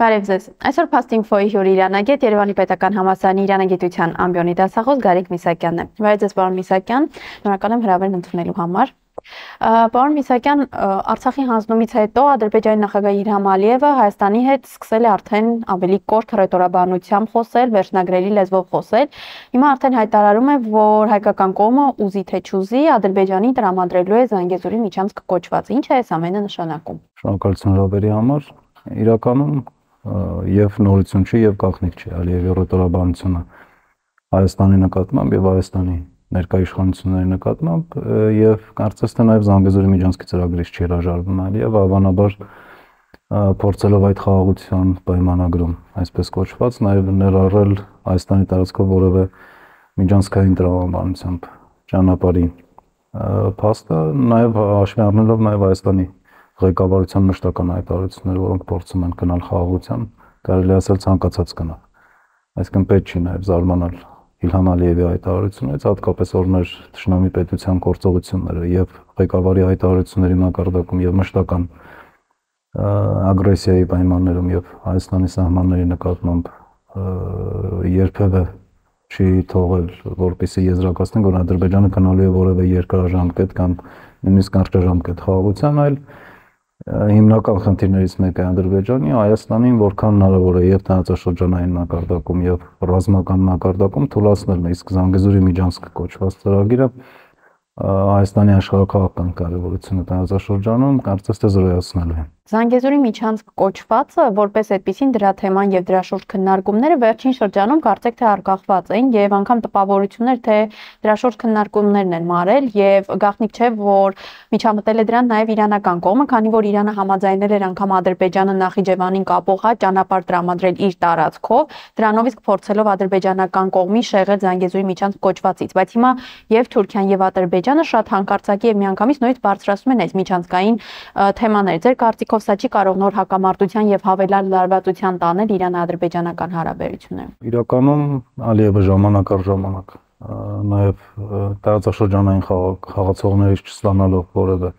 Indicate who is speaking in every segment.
Speaker 1: Բարև ձեզ։ Այսօր Փաստինֆոյի հյուր Իրանագետ Երևանի Պետական Համալսարանի Իրանագիտության ամբիոնի դասախոս Գարիկ Միսակյանն է։ Բարև ձեզ, պարոն Միսակյան, շնորհակալ եմ հրավերն ընդունելու համար։ Պարոն Միսակյան, Արցախի հանձնումից հետո Ադրբեջանի նախագահ Իլհամ Ալիևը Հայաստանի հետ սկսել է արդեն ավելի կոշտ հռետորաբանությամբ խոսել, վերջնագրերի լեզվով խոսել։ Հիմա արդեն հայտարարում է, որ հայկական կողմը ուզի թե չուզի Ադրբեջանին տրամադրելու է Զանգեզուրի միջանցք կոչված։ Ինչ է այս ամենը նշանակում։
Speaker 2: Շնորհակալություն հրավերի համար։ Իրականում եւ նորություն չի եւ գաղտնիք չի Ալիևի հռետորաբանությունը Հայաստանի նկատմամբ եւ Հայաստանի ներկայ իշխանությունների նկատմամբ եւ կարծես թե նաեւ Զանգեզուրի միջանցքի ծրագրից չի հրաժարվում Ալիևը, հավանաբար փորձելով այդ խաղաղության պայմանագրում, այսպես կոչված, նաեւ ներառել Հայաստանի տարածքով որևէ միջանցքային տրամաբանությամբ ճանապարհի փաստը, նաեւ հաշվի առնելով նաեւ Հայաստանի ղեկավարության մշտական հայտարարությունները, որոնք փորձում են գնալ խաղաղության, կարելի ասել ցանկացած գնալ։ Այսինքն պետք չի նաև զարմանալ Իլհամ Ալիևի հայտարարություններից, հատկապես օրներ թշնամի պետության գործողությունները եւ ղեկավարի հայտարարությունների մակարդակում եւ մշտական ագրեսիայի պայմաններում եւ Հայաստանի սահմանների նկատմամբ երբևէ չի թողել, որպեսզի եզրակացնենք, որ Ադրբեջանը գնալու է որևէ երկարաժամկետ կամ նույնիսկ կարճաժամկետ խաղաղության, այլ հիմնական խնդիրներից մեկը Ադրբեջանի Հայաստանին որքան հնարավոր է եւ տարածաշրջանային մակարդակում եւ ռազմական մակարդակում թույլատներն է, իսկ Զանգեզուրի միջանցք կոչված ծրագիրը Հայաստանի աշխարհակաղակական կարևորությունը տարածաշրջանում կարծես թե զրոյացնելու է։
Speaker 1: Զանգեզուրի միջանցք կոչվածը որպես այդպիսին դրա թեման եւ դրա շուրջ քննարկումները վերջին շրջանում կարծեք թե արկախված էին եւ անգամ տպավորություններ թե դրա շուրջ քննարկումներն են մարել եւ գաղտնիք չէ որ միջամտել է դրան նաեւ իրանական կողմը, քանի որ Իրանը համաձայնել էր անգամ Ադրբեջանը Նախիջևանին կապող ճանապարհ տրամադրել իր տարածքով, դրանով իսկ փորձելով ադրբեջանական կողմի շեղել Զանգեզուրի միջանցք կոչվածից, բայց հիմա եւ Թուրքիան եւ Ադրբեջանը շատ հանկարծակի եւ միանգամից նույնիսկ բարձրացնում են այս միջանցքային թեմաները։ Ձեր կարծիքով սա չի կարող նոր հակամարտության եւ հավելյալ լարվածության տանել Իրան-ադրբեջանական հարաբերությունները։
Speaker 2: Իրականում Ալիևը ժամանակ առ ժամանակ նաեւ տարածաշրջանային խաղացողներից չստանալով որևէ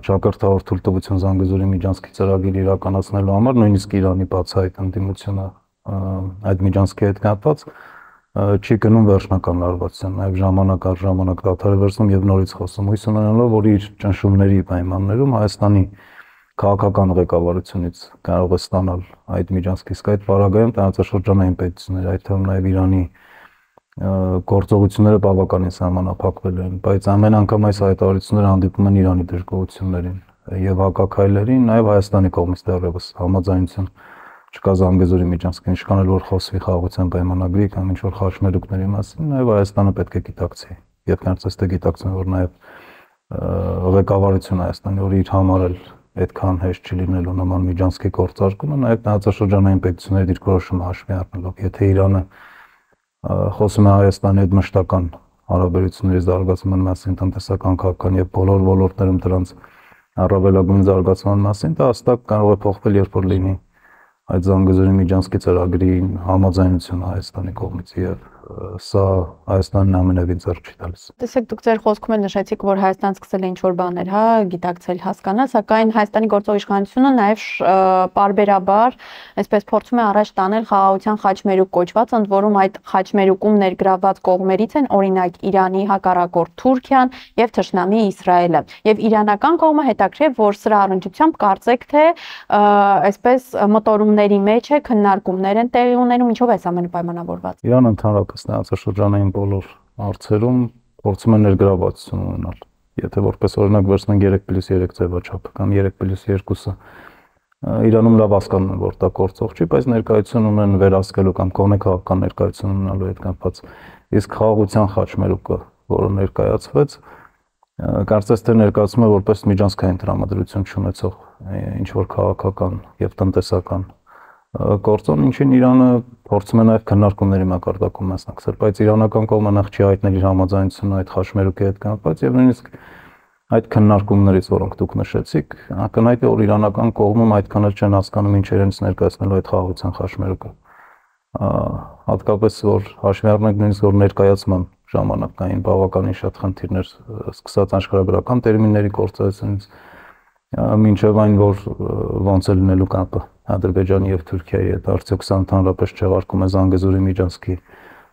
Speaker 2: ճակերտավոր թույլտվություն Զանգեզուրի միջանցքի ծրագիր իրականացնելու համար, նույնիսկ Իրանի բացահայտ ընդդիմությունը այդ միջանցքի հետ կապված չի գնում վերջնական լարվածության, նաև ժամանակ առ ժամանակ դադար է վերցնում եւ նորից խոսում, հույս ունենալով, որ իր ճնշումների պայմաններում Հայաստանի քաղաքական ղեկավարությունից կարող է ստանալ այդ միջանցքը, իսկ այդ պարագայում տարածաշրջանային պետությունները, այդ թվում նաև Իրանի գործողությունները բավականին սահմանափակվել են, բայց ամեն անգամ այս հայտարարությունները հանդիպում են Իրանի դժգոհություններին եւ հակաքայլերին, նաև Հայաստանի կողմից դեռևս համաձայնություն չկա Զանգեզուրի միջանցքին, ինչքան էլ որ խոսվի խաղաղության պայմանագրի կամ ինչ որ խաչմերուկների մասին, նաև Հայաստանը պետք է գիտակցի եւ կարծես թե գիտակցում որ նաև ղեկավարությունը Հայաստանի, որ իր համար էլ այդքան հեշտ չի լինելու նման միջանցքի գործարկումը, նաև տարածաշրջանային պետությունների դիրքորոշումը հաշվի առնելով, եթե Իրանը խոսում է Հայաստանի հետ մշտական հարաբերությունների զարգացման մասին, տնտեսական, քաղաքական եւ բոլոր ոլորտներում դրանց առավելագույն զարգացման մասին, դա հստակ կարող է փոխվել, երբ որ լինի այդ Զանգեզուրի միջանցքի ծրագրի համաձայնություն Հայաստանի կողմից եւ սա Հայաստանն ամենևին ձեռք չի տալիս։
Speaker 1: Տեսեք, դուք ձեր խոսքում էլ նշեցիք, որ Հայաստանը սկսել է ինչ-որ բաներ, գիտակցել, հասկանալ, սակայն Հայաստանի գործող իշխանությունը նաեւ պարբերաբար, այսպես փորձում է առաջ տանել խաղաղության խաչմերուկ կոչված, ընդ որում այդ խաչմերուկում ներգրավված կողմերից են օրինակ Իրանի հակառակորդ Թուրքիան եւ թշնամի Իսրայելը։ Եվ իրանական կողմը հետաքրքիր, որ սրա առնչությամբ կարծեք թե այսպես մտորումների մեջ է, քննարկումներ են տեղի ունենում, ինչով է ամենը պայմանավորված։
Speaker 2: Իրանը ընդհանրապես տարածաշրջանային բոլոր հարցերում փորձում է ներգրավվածություն ունենալ։ Եթե որպես օրինակ վերցնենք 3+3 ձևաչափը կամ 3+2-ը, Իրանում լավ հասկանում են, որ դա գործող չի, բայց ներկայություն ունեն վերահսկելու կամ կողմի քաղաքական ներկայություն ունենալու հետ կապված։ Իսկ խաղաղության խաչմերուկը, որը ներկայացվեց, կարծես թե ներկայացում է որպես միջանցքային տրամադրություն չունեցող ինչ որ քաղաքական եւ տնտեսական գործոն, ինչին Իրանը փորձում է նաև քննարկումների մակարդակում մասնակցել, բայց իրանական կողմը նախ չի հայտնել իր համաձայնությունը այդ խաչմերուկի հետ կապված եւ նույնիսկ այդ քննարկումներից, որոնք դուք նշեցիք, ակնհայտ է, որ իրանական կողմում այդքան էլ չեն հասկանում ինչ իրենց ներկայացնելու այդ խաղաղության խաչմերուկը։ Հատկապես որ հաշվի առնենք նույնիսկ որ ներկայացման ժամանակ կային բավականին շատ խնդիրներ, սկսած աշխարհագրական տերմինների կորցրեցնից մինչև այն, որ ոնց է լինելու կապը Ադրբեջանի եւ Թուրքիայի հետ, արդյոք սա ընդհանրապես չեղարկում է Զանգեզուրի միջանցքի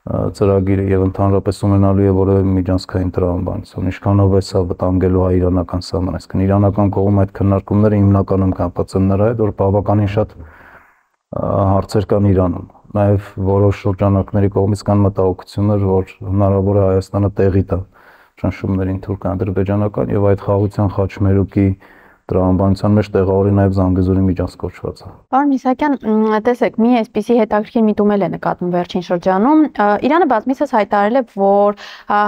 Speaker 2: ծրագիրը եւ ընդհանրապես ունենալու է որևէ միջանցքային տրամաբանություն, ինչքանով է սա վտանգելու հայ-իրանական սահմանը, այսինքն իրանական կողմը այդ քննարկումները հիմնականում կապված են նրա հետ, որ բավականին շատ հարցեր կան Իրանում, նաեւ որոշ շրջանակների կողմից կան մտահոգություններ, որ հնարավոր է Հայաստանը տեղի տա ճնշումներին թուրք-ադրբեջանական եւ այդ խաղաղության խաչմերուկի տրամաբանության մեջ տեղավորի նաև Զանգեզուրի միջանցք կոչվածը։
Speaker 1: Պարոն Իսահակյան, տեսեք, մի այսպիսի հետաքրքիր միտում էլ է նկատվում վերջին շրջանում։ Իրանը բազմիցս հայտարարել է, որ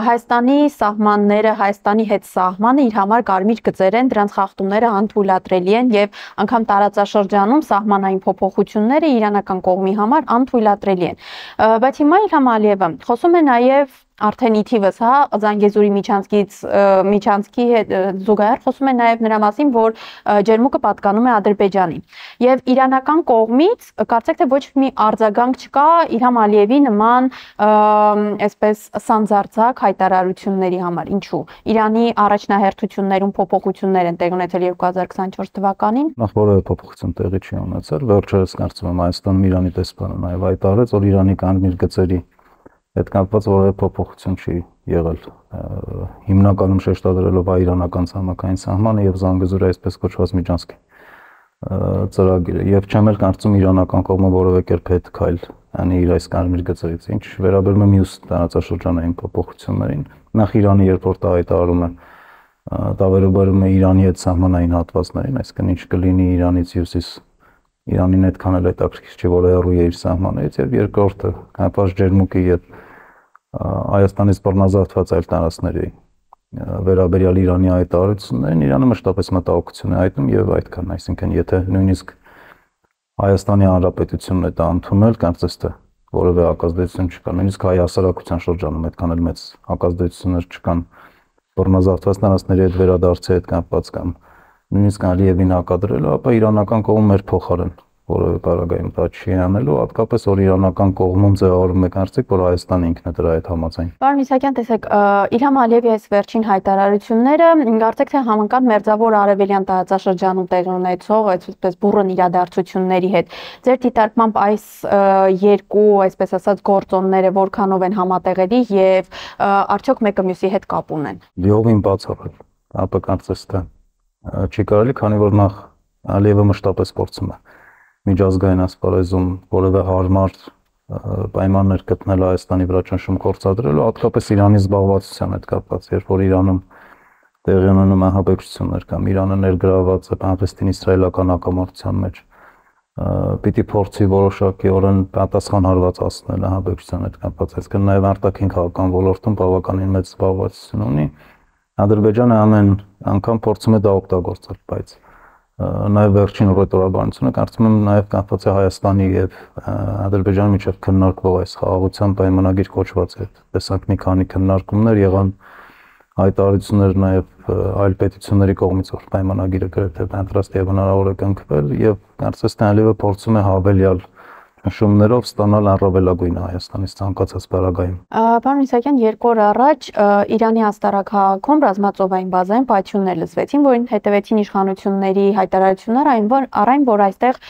Speaker 1: Հայաստանի սահմանները, Հայաստանի հետ սահմանը իր համար կարմիր գծեր են, դրանց խախտումները անթույլատրելի են եւ անգամ տարածաշրջանում սահմանային փոփոխությունները իրանական կողմի համար անթույլատրելի են։ Բայց հիմա Իլհամ Ալիևը խոսում է նաև արդեն իթիվս, հա, Զանգեզուրի միջանցքի հետ զուգահեռ խոսում է նաև նրա մասին, որ ջերմուկը պատկանում է Ադրբեջանին։ Եվ իրանական կողմից կարծեք թե ոչ մի արձագանք չկա Իլհամ Ալիևի նման այսպես սանձարձակ հայտարարությունների համար։ Ինչու՞։ Իրանի առաջնահերթություններում փոփոխություններ են տեղ ունեցել 2024 թվականին։
Speaker 2: Նախ որևէ փոփոխություն տեղի չի ունեցել, վերջերս կարծում եմ Հայաստանում Իրանի տեսփանը նաև հայտարարեց, որ Իրանի կարմիր գծերի հետ կապված որևէ փոփոխություն չի եղել, հիմնականում շեշտադրելով հայ-իրանական ցամաքային սահմանը եւ Զանգեզուրի այսպես կոչված միջանցքի ծրագիրը, եւ չեմ էլ կարծում իրանական կողմը որևէ կերպ հետ քայլ անի իր այս կարմիր գծերից, ինչ վերաբերում է մյուս տարածաշրջանային փոփոխություններին, նախ Իրանը երբ որ դա հայտարարում է, դա վերաբերում է Իրանի հետ սահմանային հատվածներին, այսինքն ինչ կլինի Իրանից հյուսիս Իրանին այդքան էլ հետաքրքիր չի, որ հեռու է իր սահմաններից, եւ երկրորդը կապված ջերմուկի եւ Հայաստանից բռնազավթված այլ տարածքների վերաբերյալ Իրանի հայտարարություններին Իրանը մշտապես մտահոգություն է հայտնում եւ այդքան, այսինքն եթե նույնիսկ Հայաստանի Հանրապետությունն է դա ընդունել, կարծես թե որևէ հակազդեցություն չկա, նույնիսկ հայ հասարակության շրջանում այդքան էլ մեծ հակազդեցություններ չկան բռնազավթված տարածքների հետ վերադարձի հետ կապված կամ նույնիսկ Ալիևին հակադրելու, ապա իրանական կողմը մեր փոխարեն որևէ պարագայում դա չի անելու, հատկապես որ իրանական կողմում ձևավորվում է կարծիք, որ Հայաստանը ինքն է դրա հետ համաձայն։
Speaker 1: Պարոն Իսահակյան, տեսեք, Իլհամ Ալիևի այս վերջին հայտարարությունները կարծեք թե համընկան մերձավոր արևելյան տարածաշրջանում տեղի ունեցող այսպես բուռն իրադարձությունների հետ։ Ձեր դիտարկմամբ այս երկու, այսպես ասած, գործոնները որքանով են համատեղելի եւ արդյոք մեկը մյուսի հետ կապ ունեն։
Speaker 2: Լիովին բացառել, ապա կարծես թե չի կարելի, քանի որ նախ Ալիևը մշտապես փորձում է միջազգային ասպարեզում որևէ հարմար պայմաններ գտնել Հայաստանի վրա ճնշում գործադրելու, հատկապես Իրանի զբաղվածության հետ կապված, երբ որ Իրանում տեղի ունենում ահաբեկչություններ կամ Իրանը ներգրավված է Պաղեստին-իսրայելական հակամարտության մեջ, պիտի փորձի որոշակիորեն պատասխան հարվածացնել ահաբեկչության հետ կապված, այսինքն նաև արտաքին քաղաքական ոլորտում բավականին մեծ զբաղվածություն ունի։ Ադրբեջանը ամեն անգամ փորձում է դա օգտագործել, բայց նաև վերջին ռետորաբանությունը կարծում եմ նաև կապված է Հայաստանի եւ Ադրբեջանի միջև քննարկվող այս խաղաղության պայմանագիր կոչված է։ Տեսանք մի քանի քննարկումներ եղան, հայտարարություններ նաև այլ պետությունների կողմից, որ պայմանագիրը գրեթե պատրաստ եւ հնարավոր է կնքվել եւ կարծես թե Ալիևը փորձում է հավելյալ շումներով ստանալ առավելագույնը Հայաստանից ցանկացած պարագայում։
Speaker 1: Պարոն Իսահակյան, 2 օր առաջ Իրանի Աստարաքաղաքում ռազմածովային բազային պայթյուններ լսվեցին, որին հետևեցին իշխանությունների հայտարարություններ, առայն որ այստեղ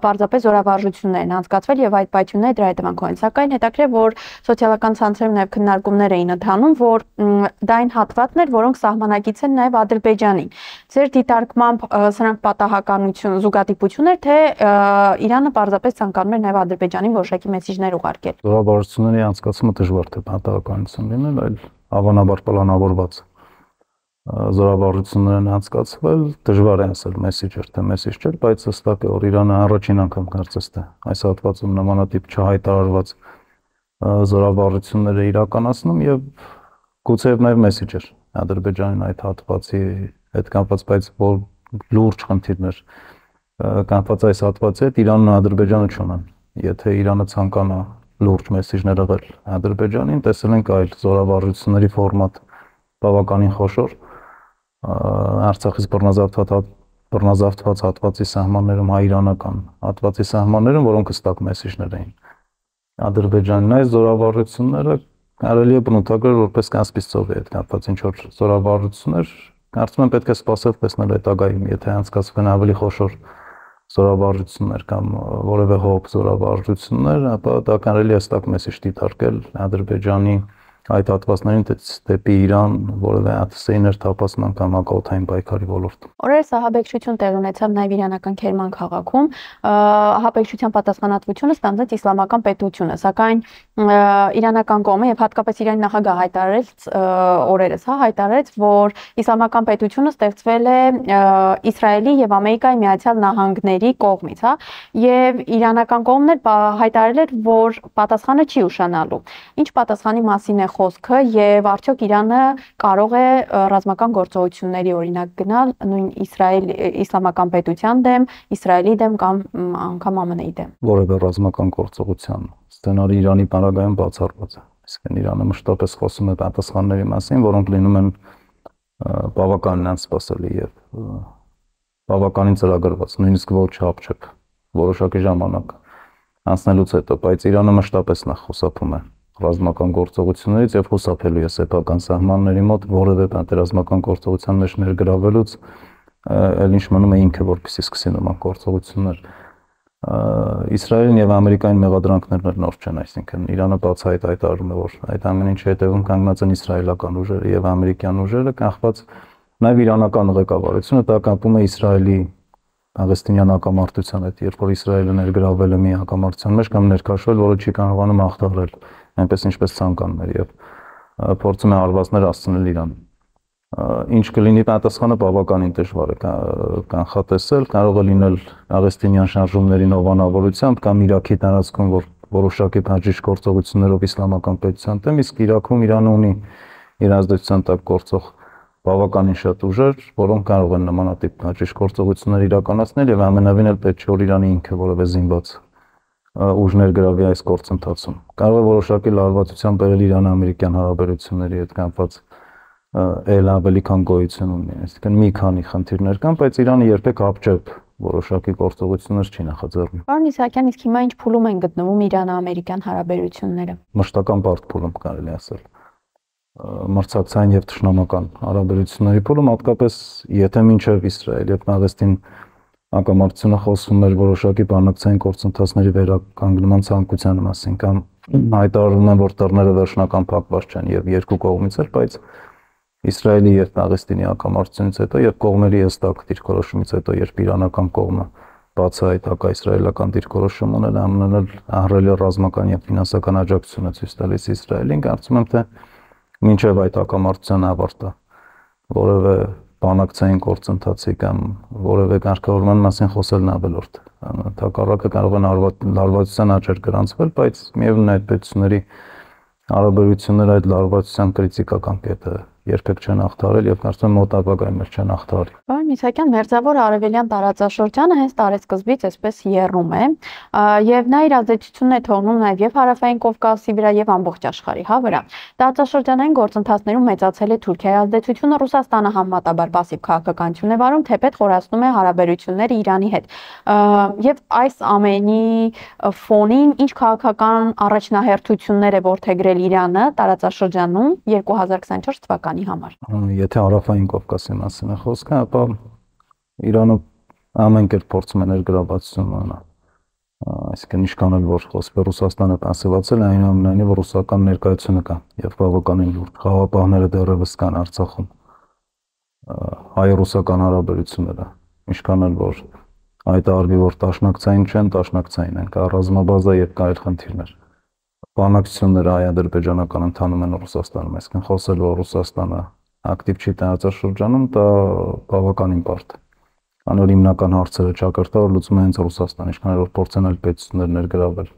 Speaker 1: պարզապես զորավարժություններ են անցկացվել եւ այդ պայթյունները դրա հետևանքով են։ Սակայն հետաքրքիր որ սոցիալական ցանցերում նաեւ քննարկումներ էին ընթանում, որ դա այն հատվածներ, որոնք սահմանակից են նաեւ Ադրբեջանին։ Ձեր դիտարկմամբ սրանք պատահականություն, զուգադիպություն էր, թե Իրանը պարզապես ցանկանում էր նաեւ Ադրբեջանին որոշակի մեսիջներ ուղարկել։
Speaker 2: Զորավարժությունների անցկացումը դժվար թե պատահականություն լինել, այլ հավանաբար պլանավորված զորավարժություններ են անցկացվել, դժվար է ասել մեսիջ էր թե մեսիջ չէր, բայց հստակ է, որ Իրանը առաջին անգամ կարծես թե այս հատվածում նմանատիպ չհայտարարված զորավարժություններ է իրականացնում եւ գուցեև նաեւ մեսիջ էր Ադրբեջանին այդ հատվածի հետ կապված, բայց որ լուրջ խնդիրներ կապված այս հատվածի հետ Իրանն ու Ադրբեջանը չունեն։ Եթե Իրանը ցանկանա լուրջ մեսիջներ ըղել Ադրբեջանին, տեսել ենք այլ զորավարժությունների ֆորմատ բավականին խոշոր Արցախից բռնազավթված հատվածի սահմաններում հայ-իրանական հատվածի սահմաններում, որոնք հստակ մեսիջներ էին Ադրբեջանին, այս զորավարժությունները կարելի է բնութագրել որպես Կասպից ծովի հետ կապված ինչ որ զորավարժություններ, կարծում եմ պետք է սպասել տեսնել հետագայում, եթե անցկացվեն ավելի խոշոր զորավարժություններ կամ որևէ հոբ զորավարժություններ, ապա դա կարելի է հստակ մեսիջ դիտարկել Ադրբեջանի այդ հատվածներին դեպի Իրան որևէ ԱԹՍ-ի ներթափանցման կամ հակաօդային պայքարի ոլորտում։
Speaker 1: Օրերս ահաբեկչություն տեղի ունեցավ նաև իրանական Քերման քաղաքում։ Ահաբեկչության պատասխանատվությունը ստանձնեց Իսլամական պետությունը, սակայն իրանական կողմը եւ հատկապես Իրանի նախագահը հայտարարեց, որ Իսլամական պետությունը ստեղծվել է Իսրայելի եւ Ամերիկայի Միացյալ Նահանգների կողմից, եւ իրանական կողմն էլ հայտարարել էր, որ պատասխանը չի ուշանալու։ Ինչ պատասխանի մասին է խոսքը եւ արդյոք Իրանը կարող է ռազմական գործողությունների օրինակ գնալ նույն Իսլամական պետության դեմ, Իսրայելի դեմ կամ անգամ ԱՄՆ-ի դեմ։
Speaker 2: Որևէ ռազմական գործողության սցենարի Իրանի բանակայում բացառված է։ Իսկ Իրանը մշտապես խոսում է պատասխանների մասին, որոնք լինում են բավականին անսպասելի եւ բավականին ծրագրված, նույնիսկ ոչ հապչեպ որոշակի ժամանակ անցնելուց հետո, բայց Իրանը մշտապես նախ խուսափում է ռազմական գործողություններից եւ խուսափելու է սեփական սահմանների մոտ որևէ պատերազմական գործողության մեջ ներգրավելուց, այլ ինչ մնում է ինքը որպեսզի սկսի նման գործողություններ։ Իսրայելին եւ Ամերիկային մեղադրանքներն նոր չեն, այսինքն Իրանը բացահայտ հայտարարում է, որ այդ ամեն ինչի հետևում կանգնած են իսրայելական ուժերը եւ ամերիկյան ուժերը, կախված նաեւ իրանական ղեկավարությունը դա կապում է Իսրայելի Պաղեստինյան հակամարտության հետ, երբ որ Իսրայելը ներգրավել է մի հակամարտության մեջ կամ ներքաշվել, որը չի կարողանում հաղթահարել, այնպես ինչպես ցանկանում էր եւ փորձում է հարվածներ հասցնել Իրան։ Ինչ կլինի պատասխանը բավականին դժվար է կանխատեսել, կարող է լինել Պաղեստինյան շարժումների նովանավորությամբ կամ Իրաքի տարածքում, որ որոշակի բաժիշ գործողություններով իսլամական պետության դեմ, իսկ Իրաքում Իրանը ունի իր ազդեցության տակ գործող բավականին շատ ուժեր, որոնք կարող են նմանատիպ բաժիշ գործողություններ իրականացնել եւ ամենավին էլ պետք չէ որ Իրանի ինքը որևէ զինված ուժներ գրավի այս գործընթացում։ Կարող է որոշակի լարվածությամբ բերել Իրան-ամերիկյան հարաբերությունների հետ կապված էլ ավելի քան գոյություն ունի։ Այսինքն մի քանի խնդիրներ կան, բայց Իրանը երբեք հապճեպ որոշակի գործողություններ չի նախաձեռնում։
Speaker 1: Պարոն Իսահակյան, իսկ հիմա ինչ փուլում են գտնվում Իրան-ամերիկյան հարաբերությունները։
Speaker 2: Մշտական բարդ փուլում կարելի ասել։ Մրցակցային եւ թշնամական հարաբերությունների փուլում, հատկապես եթե մինչեւ Իսրայել եւ Պաղեստին հակամարտությունը խոսում էր որոշակի բանակցային գործընթացների վերականգնման ցանկության մասին կամ հայտարարում են, որ դռները վերջնական փակված չեն եւ երկու կողմից էլ, բայց Իսրայելի եւ Պաղեստինի հակամարտությունից հետո եւ կողմերի հստակ դիրքորոշումից հետո, երբ իրանական կողմը բացահայտ հակաիսրայելական դիրքորոշում ունել, ԱՄՆ-ն ահռելի ռազմական եւ ֆինանսական աջակցություն է ցույց տալիս Իսրայելին, կարծում եմ թե մինչեւ այդ հակամարտության ավարտը որևէ բանակցային գործընթացի կամ որևէ կարգավորման մասին խոսելն ավելորդ։ Հակառակը կարող են լարվածության աճեր գրանցվել, բայց միևնույն այդ պետությունների հարաբերությունները այդ լարվածության կրիտիկական կետը երբեք չեն հաղթահարել եւ կարծում եմ մոտ ապագայում էլ չեն հաղթահարի։
Speaker 1: Պարոն Իսահակյան, Մերձավոր Արևելյան տարածաշրջանը հենց տարեսկզբից այսպես եռում է եւ նա իր ազդեցությունն է թողնում նաեւ եւ Հարավային Կովկասի վրա եւ ամբողջ աշխարհի վրա։ Տարածաշրջանային գործընթացներում մեծացել է Թուրքիայի ազդեցությունը, Ռուսաստանը համեմատաբար պասիվ քաղաքականություն է վարում, թեպետ խորացնում է հարաբերությունները Իրանի հետ։ Եվ այս ամենի ֆոնին ինչ քաղաքական առաջնահերթություններ է որդեգրել Իրանը տարածաշրջանում 2024 թվականի համար։
Speaker 2: Եթե Հարավային Կովկասի մասին է խոսքը, ապա Իրանը ամեն կերպ փորձում է ներգրավվածություն ունենալ։ Այսինքն ինչքան էլ որ խոսքը Ռուսաստանը պասիվացել է, այնուամենայնիվ ռուսական ներկայությունը կա եւ բավականին լուրջ խաղապահները դեռևս կան Արցախում։ Հայ-ռուսական հարաբերությունները, ինչքան էլ որ հայտարարվի, որ տաշնակցային չեն, տաշնակցային են, կա ռազմաբազա եւ կա այլ խնդիրներ։ Բանակցությունները հայ-ադրբեջանական ընթանում են Ռուսաստանում, այսինքն խոսել որ Ռուսաստանը ակտիվ չի տարածաշրջանում, դա բավականին բարդ է։ Անոր հիմնական հարցերը ճակատագրը լուծում է հենց Ռուսաստանը, ինչքան որ փորձեն այլ պետություններ ներգրավել։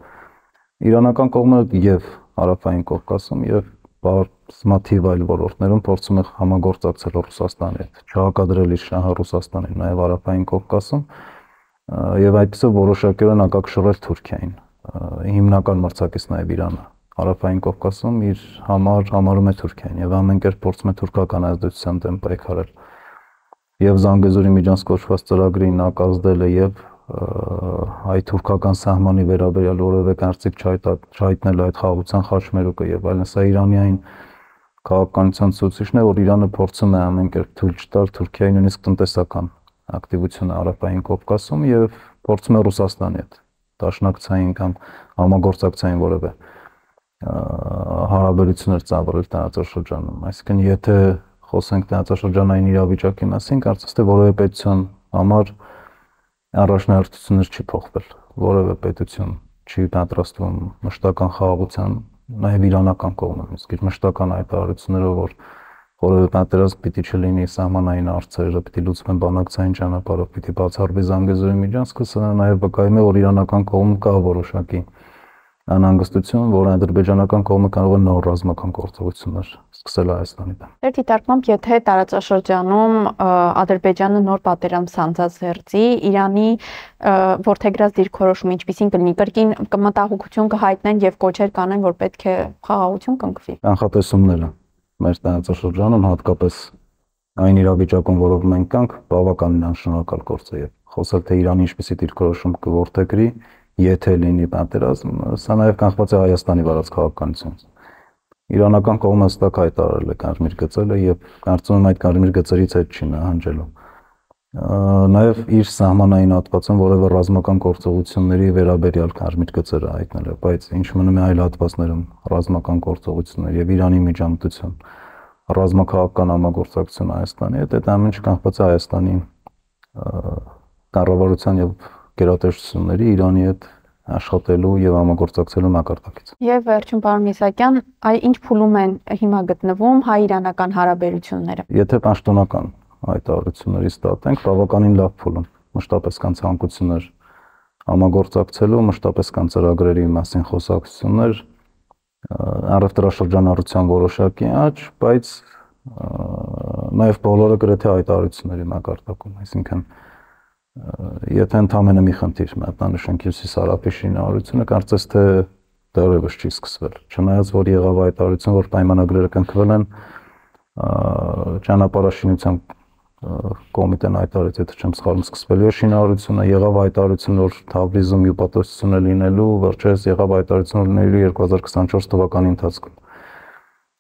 Speaker 2: Իրանական կողմը եւ Հարավային Կովկասում եւ բազմաթիվ այլ ոլորտներում փորձում է համագործակցել Ռուսաստանի հետ, չհակադրել իր շահը Ռուսաստանին, նաեւ Հարավային Կովկասում եւ այդպեսով որոշակիորեն ակակշռել Թուրքիային։ Հիմնական մրցակիցն նաեւ Իրանը Հարավային Կովկասում իր համարում է Թուրքիային եւ ամեն կերպ փորձում է թուրքական ազդեցության դեմ պայքարել։ Եվ Զանգեզուրի միջանց կոչված ծրագրին նակազդել է եւ հայ-թուրքական սահմանի վերաբերյալ որևէ կարծիք չհայտնել այդ խաղաղության խաչմերուկը եւ այլն, սա Իրանյան քաղաքականության ցուցիչն է, որ Իրանը փորձում է ամեն կերպ թույլ չտալ Թուրքիայի նույնիսկ տնտեսական ակտիվությունը Հարավային Կովկասում եւ փորձում է Ռուսաստանի հետ դաշնակցային կամ համագործակցային որևէ հարաբերություններ ծավալել տարածաշրջանում։ Այսինքն, եթե խոսենք տարածաշրջանային իրավիճակի մասին, կարծես թե որևէ պետության համար առաջնահերթություններ չի փոխվել։ Որևէ պետություն չի պատրաստվում մշտական խաղաղության, նաև իրանական կողմից, իսկ իր մշտական հայտարարություններով, որ որևէ պատերազմ պիտի չլինի, սահմանային հարցերը պիտի լուծվեն բանակցային ճանապարհով, պիտի բացառվի Զանգեզուրի միջանցքը, սա նաև վկայում է, որ իրանական կողմում կա որոշակի անհանգստություն, որ ադրբեջանական կողմը կարող է նոր ռազմական գործողություններ սկսել Հայաստանի դեմ։
Speaker 1: Ձեր դիտարկմամբ, եթե տարածաշրջանում Ադրբեջանը նոր պատերազմ սանձազերծի, Իրանի որդեգրած դիրքորոշումը ինչպիսին կլինի, կրկին մտահոգություն կհայտնեն եւ կոչեր կանեն, որ պետք է խաղաղություն կնքվի։
Speaker 2: Կանխատեսումները մեր տարածաշրջանում, հատկապես այն իրավիճակում, որով մենք կանք, բավականին անշնորհակալ գործ է եւ խոսել թե Իրանի ինչպիսի դիրքորոշում կորդեգրի, եթե լինի պատերազմ, սա նաև կանխված է Հայաստանի վարած քաղաքականությունից։ Իրանական կողմը հստակ հայտարարել է կարմիր գծերը եւ կարծում եմ այդ կարմիր գծերից հետ չի նահանջելու։ Նաև իր սահմանային հատվածում որևէ ռազմական գործողությունների վերաբերյալ կարմիր գծերը հայտնել է, բայց ինչ մնում է այլ հատվածներում ռազմական գործողություններ եւ Իրանի միջամտություն, ռազմաքաղաքական համագործակցություն Հայաստանի հետ, այդ ամենը կանխված է Հայաստանի կառավարության եւ գերատեսչությունների Իրանի հետ աշխատելու եւ համագործակցելու մակարդակից։
Speaker 1: Եվ վերջում, պարոն Միսակյան, ինչ փուլում են հիմա գտնվում հայ-իրանական հարաբերությունները։
Speaker 2: Եթե պաշտոնական հայտարարություններից ստատենք, բավականին լավ փուլում, մշտապես կան ցանկություններ համագործակցելու, մշտապես կան ծրագրերի մասին խոսակցություններ, առևտրաշրջանառության որոշակի աճ, բայց նաեւ բոլորը գրեթե հայտարարությունների մակարդակում, այսինքն եթե ընդամենը մի խնդիր մատնանշենք Հյուսիսարաբի շինարարությունը, կարծես թե դեռևս չի սկսվել։ Չնայած որ եղավ հայտարարություն, որ պայմանագրերը կնքվել են, ճանապարհաշինության կոմիտեն հայտարարեց, եթե չեմ սխալվում, սկսվելու է շինարարությունը, եղավ հայտարարություն, որ Թավրիզում հյուպատոսություն է լինելու, վերջերս եղավ հայտարարություն, որ լինելու 2024 թվականի ընթացքում։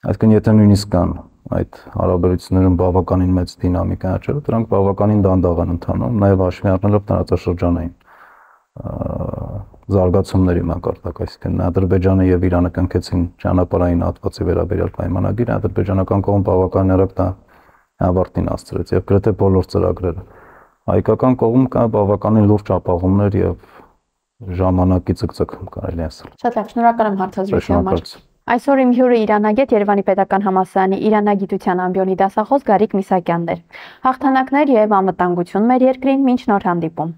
Speaker 2: Այսինքն եթե նույնիսկ կան այդ հարաբերություններում բավականին մեծ դինամիկա աճել, դրանք բավականին դանդաղ են ընթանում, նաև հաշվի առնելով տարածաշրջանային զարգացումների մակարդակ, այսինքն Ադրբեջանը եւ Իրանը կնքեցին ճանապարհային հատվածի վերաբերյալ պայմանագիր, ադրբեջանական կողմը բավականին արագ դա ավարտին հասցրեց եւ գրեթե բոլոր ծրագրերը։ Հայկական կողմում կա բավականին լուրջ ապահովումներ եւ ժամանակի ցկցկ կարելի ասել։
Speaker 1: Շատ լավ, շնորհակալ եմ հարցազրույցի համար։ Այսօր իմ հյուրը Իրանագետ Երևանի Պետական Համալսարանի Իրանագիտության ամբիոնի դասախոս Գարիկ Միսակյանն էր։ Հաղթանակներ եւ անվտանգություն մեր երկրին, մինչ նոր հանդիպում։